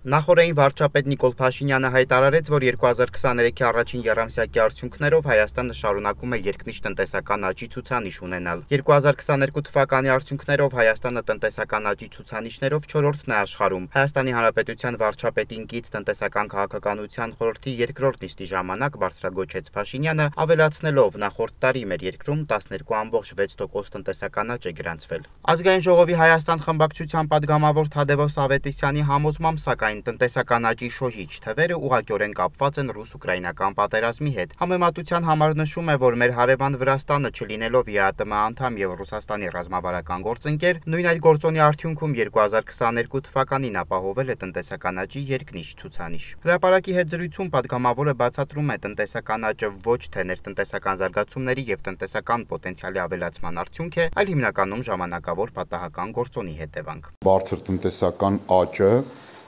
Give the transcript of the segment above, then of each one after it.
Նախորդային վարչապետ Նիկոլ Փաշինյանը հայտարարեց, որ 2023-ի առաջին եռամսյակի արդյունքներով Հայաստանը շարունակում է երկնիշ տնտեսական աճի ցուցանիշ ունենալ։ 2022 թվականի արդյունքներով Հայաստանը տնտեսական աճի ցուցանիշներով 4-րդն է աշխարհում։ Հայաստանի Հանրապետության վարչապետին կից տնտեսական քաղաքականության խորհրդի երկրորդ նիստի ժամանակ բարձրագոչեց Փաշինյանը, ավելացնելով նախորդ տարի մեր երկրում 12.6% տնտեսական աճ է գրանցվել։ Ազգային ժողովի Հայաստան խմբակցության падգամավոր Թադևոս Ավետիսյանի համոզմամբ, սակայն տնտեսական աճի շոժիչ թվերը ուղղակիորեն կապված են ռուս-ուկրաինական պատերազմի հետ։ Համեմատության համար նշում է, որ մեր հարևան Վրաստանը չլինելով ԵԱՏՄ անդամ եւ Ռուսաստանի ռազմավարական գործընկեր, նույն այդ գործոնի արդյունքում 2022 թվականին ապահովել է տնտեսական աճի երկնիշ ցուցանիշ։ Հրապարակի հետ զրույցում падգամավորը բացատրում է տնտեսական աճը ոչ թե ներտնտեսական զարգացումների եւ տնտեսական պոտենցիալի ավելացման արդյունք է, այլ հիմնականում ժամանակավոր պատահական գործոնի հետևանք։ Բարձր տնտեսական աճը,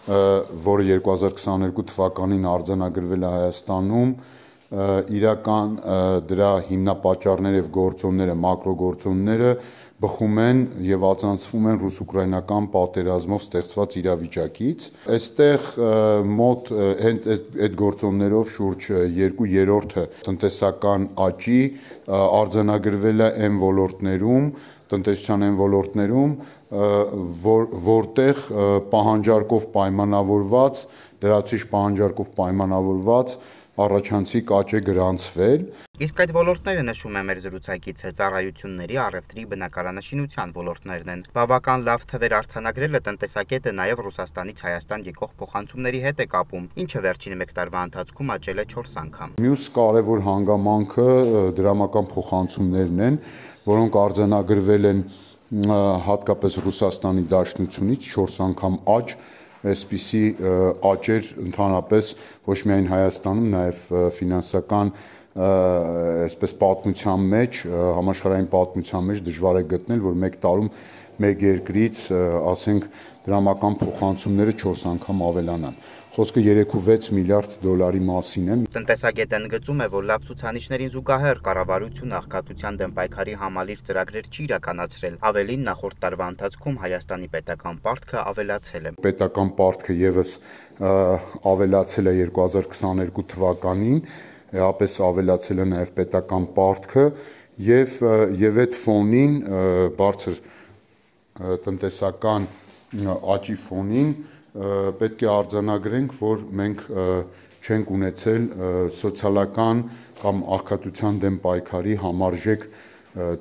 որը 2022 թվականին արձանագրվել է Հայաստանում, իրական դրա հիմնապատճառները եւ գործոնները, մակրոգործոնները բխում են եւ ածանցվում են ռուս-ուկրաինական պատերազմով ստեղծված իրավիճակից։ Այստեղ մոտ հենց այդ գործոններով շուրջ 2/3 տնտեսական աճի արձանագրվել է այն ոլորտներում, տնտեսության այն ոլորտներում, որտեղ պահանջարկով պայմանավորված, լրացուցիչ պահանջարկով պայմանավորված առաջանցիկ աճ է գրանցվել։ Իսկ այդ ոլորտները, նշում է մեր զրուցակիցը, ծառայությունների, առևտրի, բնակարանաշինության ոլորտներն են։ Բավական լավ թվեր արձանագրելը տնտեսակետը նաև Ռուսաստանից Հայաստան եկող փոխանցումների հետ է կապում, ինչը վերջին 1 տարվա ընթացքում աճել է 4 անգամ։ Մյուս կարևոր հանգամանքը դրամական փոխանցումներն են, որոնք արձանագրվել են հատկապես Ռուսաստանի Դաշնությունից 4 անգամ աճ, այսպիսի աճեր ընդհանրապես ոչ միայն Հայաստանում, նաև ֆինանսական այսպես պատմության մեջ, համաշխարհային պատմության մեջ դժվար է գտնել, որ 1 տարում մեկ երկրից, ասենք, դրամական փոխանցումները 4 անգամ ավելանան։ Խոսքը 3.6 միլիարդ դոլարի մասին է։ Տնտեսագետը ընդգծում է, որ լավ ցուցանիշներին զուգահեռ կառավարությունը աղքատության դեմ պայքարի համալիր ծրագրեր չի իրականացրել։ Ավելին, նախորդ տարվա ընթացքում Հայաստանի պետական պարտքը ավելացել է։ Պետական պարտքը եւս ավելացել է 2022 թվականին, էապես ավելացել է նաև պետական պարտքը եւ այդ ֆոնին բարձր տնտեսական աճի ֆոնին պետք է արձանագրենք, որ մենք չենք ունեցել սոցիալական կամ աղքատության դեմ պայքարի համարժեք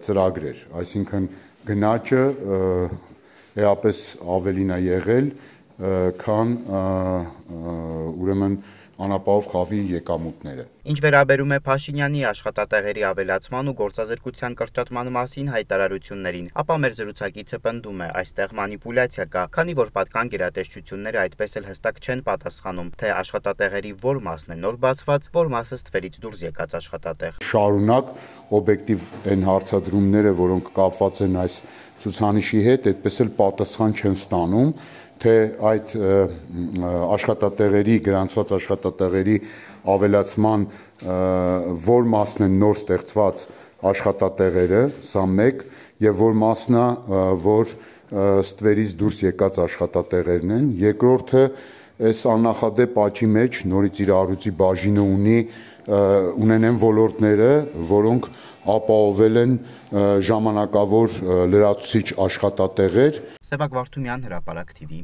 ծրագրեր, այսինքն գնաճը էապես ավելին է եղել, քան ուրեմն անապահով խավի եկամուտները։ Ինչ վերաբերում է Փաշինյանի աշխատատեղերի ավելացման ու գործազրկության կրճատման մասին հայտարարություններին, ապա մեր զրուցակիցը պնդում է, այստեղ մանիպուլյացիա կա, քանի որ պատկան գերատեսչությունները այդպես էլ հստակ չեն պատասխանում, թե աշխատատեղերի որ մասն է նոր բացված, որ մասը ստվերից դուրս եկած աշխատատեղ։ Շարունակ օբյեկտիվ այն հարցադրումները, որոնք կապված են այս ցուցանիշի հետ, այդպես էլ պատասխան չեն ստանում, թե այդ աշխատատեղերի, գրանցված աշխատատեղերի ավելացման որ մասն են նոր ստեղծված աշխատատեղերը, սա մեկ, եւ որ մասն է, որ ստվերից դուրս եկած աշխատատեղերն են, երկրորդը այս աննախադեպ աճի մեջ նորից իր առյուծի բաժինը ունենեն ոլորտները, որոնք ապահովել են ժամանակավոր լրացուցիչ աշխատատեղեր։ Սևակ Վարդումյան, Հրապարակ TV։